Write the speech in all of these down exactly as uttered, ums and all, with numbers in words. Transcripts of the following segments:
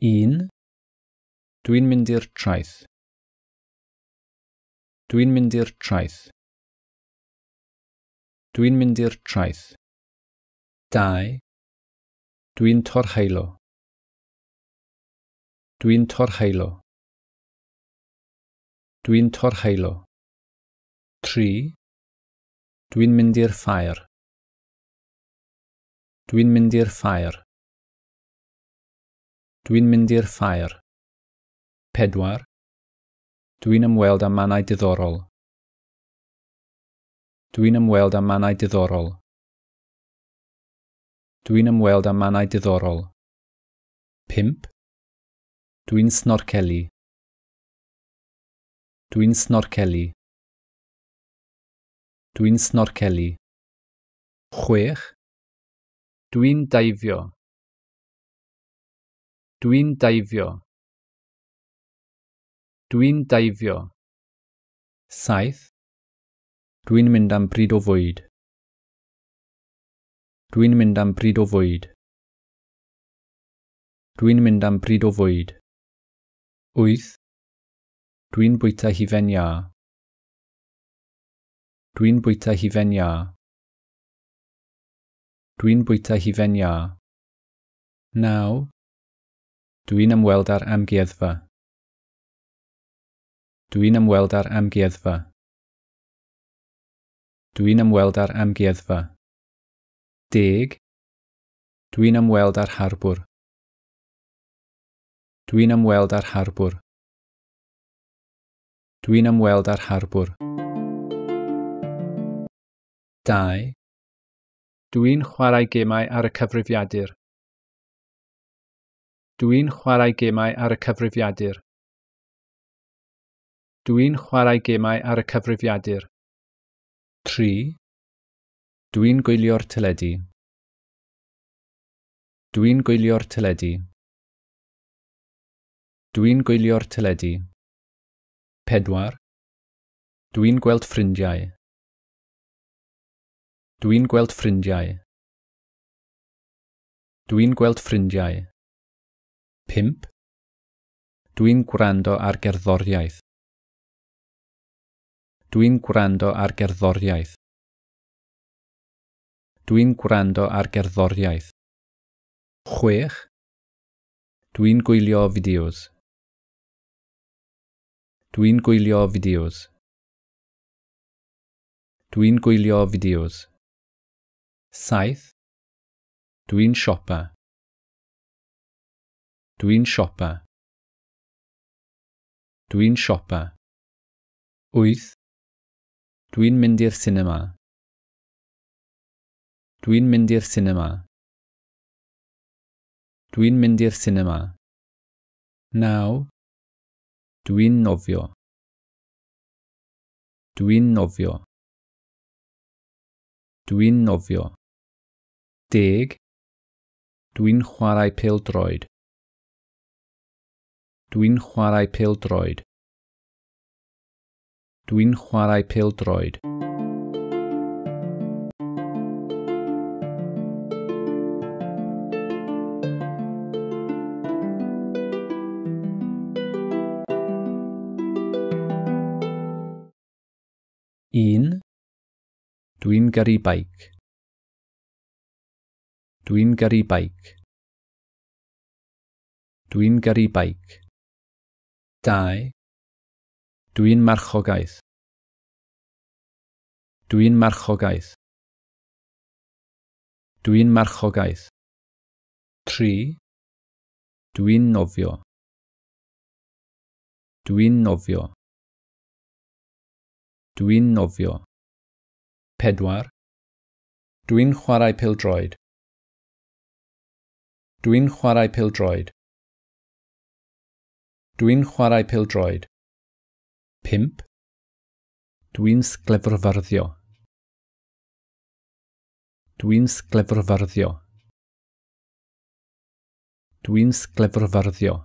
Un. Dwi'n mynd i'r traeth. Dwi'n mynd i'r traeth. Dwi'n mynd i'r traeth. Dau. Dwi'n torheulo. Dwi'n torheulo. Dwi'n torheulo. Tri. Dwi'n mynd i'r ffair. Dwi'n mynd i'r ffair. Dwi'n mynd i'r ffair. Pedwar. Dwi'n ymweld â mannau diddorol. Dwi'n ymweld â mannau diddorol. Dwi'n ymweld â mannau diddorol. Pump. Dwi'n snorcelu. Dwi'n snorcelu. Dwi'n snorcelu. Chwech. Dwi'n daifio. Dwi'n daifio. Dwi'n daifio. Saith. Dwi'n mynd am bryd o fwyd. Dwi'n mynd am bryd o fwyd. Dwi'n mynd am bryd o fwyd. Wyth. Dwi'n bwyta hufen iâ. Dwi'n bwyta hufen iâ. Dwi'n bwyta hufen iâ. Naw. Dwi'n ymweld â'r amgueddfa. Dwi'n ymweld â'r amgueddfa. Dwi'n ymweld â'r amgueddfa. Deg. Dwi'n ymweld â'r harbwr. Dwi'n ymweld â'r harbwr. Dwi'n ymweld â'r harbwr. Dau. Dwi'n chwarae gemau ar y cyfrifiadur. Dwi'n chwarae gemau ar y cyfrifiadur. Dwi'n chwarae gemau ar y cyfrifiadur. Tri. Dwi'n gwylio'r teledu. Dwi'n gwylio'r teledu. Dwi'n gwylio'r teledu. Pedwar. Dwi'n gweld ffrindiau. Dwi'n gweld ffrindiau. Dwi'n gweld ffrindiau. Pump. Dwi'n gwrando ar gerddoriaeth. Dwi'n gwrando ar gerddoriaeth. Dwi'n gwrando ar gerddoriaeth. Chwech. Dwi'n gwylio fideos. Dwi'n gwylio fideos. Dwi'n gwylio fideos. Saith. Dwi'n siopa. Dwi'n siopa. Dwi'n siopa. Wyth. Dwi'n mynd i'r sinema. Dwi'n mynd i'r sinema. Dwi'n mynd i'r sinema. Naw. Dwi'n nofio. Dwi'n nofio. Dwi'n nofio. Deg. Dwi'n chwarae pêl-droed. Dwi'n chwarae pêl-droed. Dwi'n chwarae pêl-droed. Un. Dwi'n gyrru beic. Dwi'n gyrru beic. Dwi'n gyrru beic. Dau. Dwi'n marchogaeth. Dwi'n marchogaeth. Dwi'n marchogaeth. Tri. Dwi'n nofio. Dwi'n nofio. Dwi'n nofio. Pedwar. Dwi'n chwarae pêl-droed. Dwi'n chwarae pêl-droed. Dwi'n chwarae pêl-droed. Pump. Dwi'n sglefrfyrddio. Dwi'n sglefrfyrddio. Dwi'n sglefrfyrddio.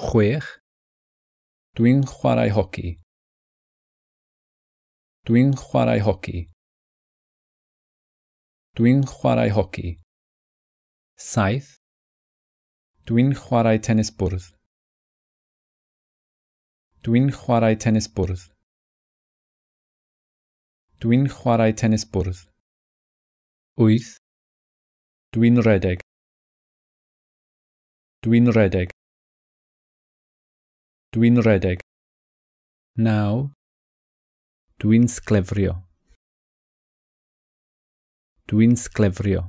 Chwech. Dwi'n chwarae hoci. Dwi'n chwarae hoci. Dwi'n chwarae hoci. Saith. Dwi'n chwarae tenis bwrdd. Dwi'n chwarae tenis bwrdd. Dwi'n chwarae tenis bwrdd. Wyth. Dwi'n rhedeg. Dwi'n rhedeg. Dwi'n rhedeg. Naw. Dwi'n sglefrio. Dwi'n sglefrio.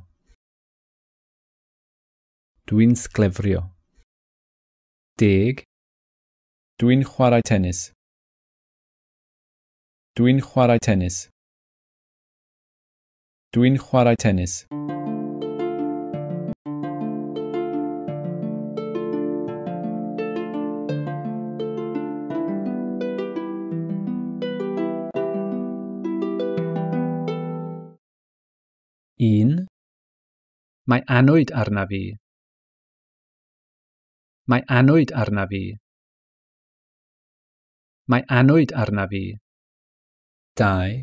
Dwi'n sglefrio. Deg. Dwi'n chwarae tenis. Dwi'n chwarae tenis. Dwi'n chwarae tenis. Un. Mae annwyd arnaf fi. Mae annwyd arnaf fi. Mae annwyd arnaf fi. Dau.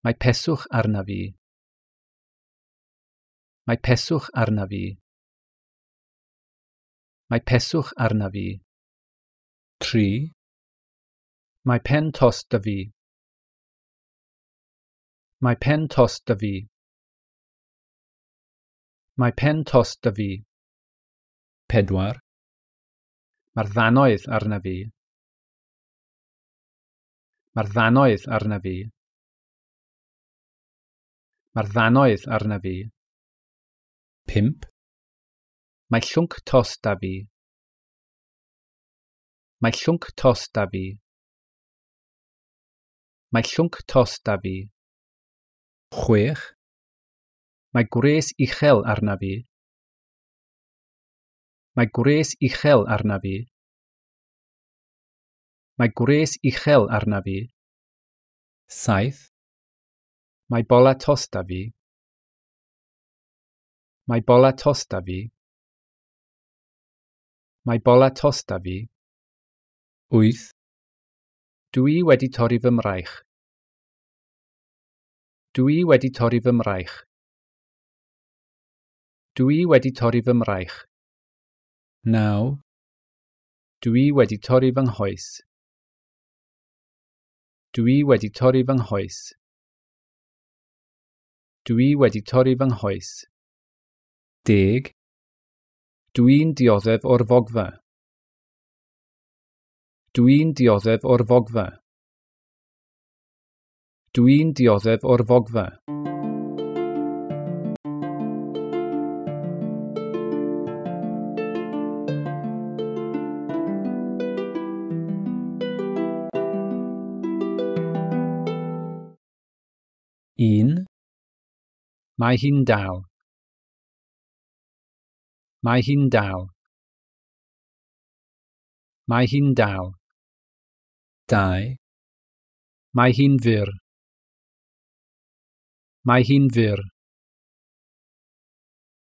Mae peswch arnaf fi. Mae peswch arnaf fi. Mae peswch arnaf fi. Tri. Mae pen tost 'da fi. Mae pen tost 'da fi. Mae pen tost 'da fi. Pedwar. Mae'r ddannoedd arnaf fi. Mae'r ddannoedd arnaf fi. Mae'r ddannoedd arnaf fi. Pump. Mae llwnc tost 'da fi. Mae llwnc tost 'da fi. Mae llwnc tost 'da fi. Chwech. Mae gwres uchel arnaf fi. Mae gwres uchel arnaf fi. Mae gwres uchel arnaf fi. Saith. Mae bola tost 'da fi. Mae bola tost 'da fi. Mae bola tost 'da fi. Wyth. Dwi wedi torri fy mraich. Dwi wedi torri fy mraich. Dwi wedi torri fy mraich. Naw. Dwi wedi torri fy nghoes. Dwi wedi torri fy nghoes. Dwi wedi torri fy nghoes. Deg. Dwi'n dioddef o'r fogfa. Dwi'n dioddef o'r fogfa. Dwi'n dioddef o'r fogfa. Un. Mae hi'n dal. Mae hi'n dal. Mae hi'n dal. Dau. Mae hi'n fyr. Mae hi'n fyr.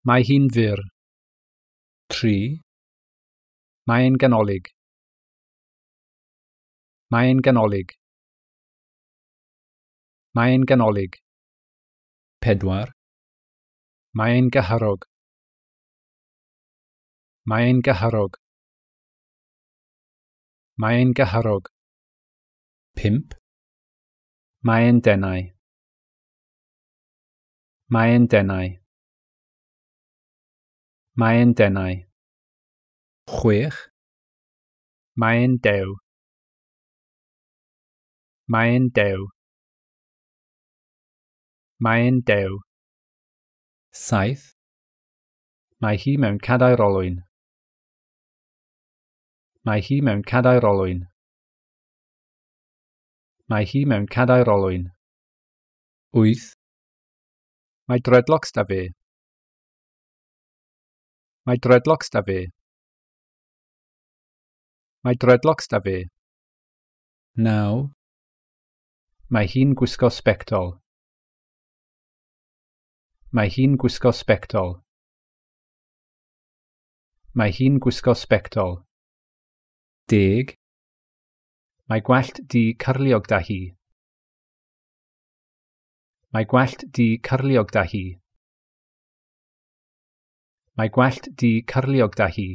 Mae hi'n fyr. Tri. Mae'n ganolig. Mae'n ganolig. Mae'n ganolig. Pedwar. Mae'n gyhyrog. Mae'n gyhyrog. Mae'n gyhyrog. Pump. Mae'n denau. Mae'n denau. Mae'n denau. Chwech. Mae'n dew. Mae'n dew. Mae'n dew. Saith. Mae hi mewn cadair olwyn. Mae hi mewn cadair olwyn. Mae hi mewn cadair olwyn. Wyth. Mae dreadlocks 'da fi. Mae dreadlocks 'da fi. Mae dreadlocks 'da fi. Naw. Mae hi'n gwisgo sbectol. Mae hi'n gwisgo sbectol. Mae hi'n gwisgo sbectol. Deg. Mae gwallt du cyrliog 'da hi. Mae gwallt du cyrliog 'da hi. Mae gwallt du cyrliog 'da hi.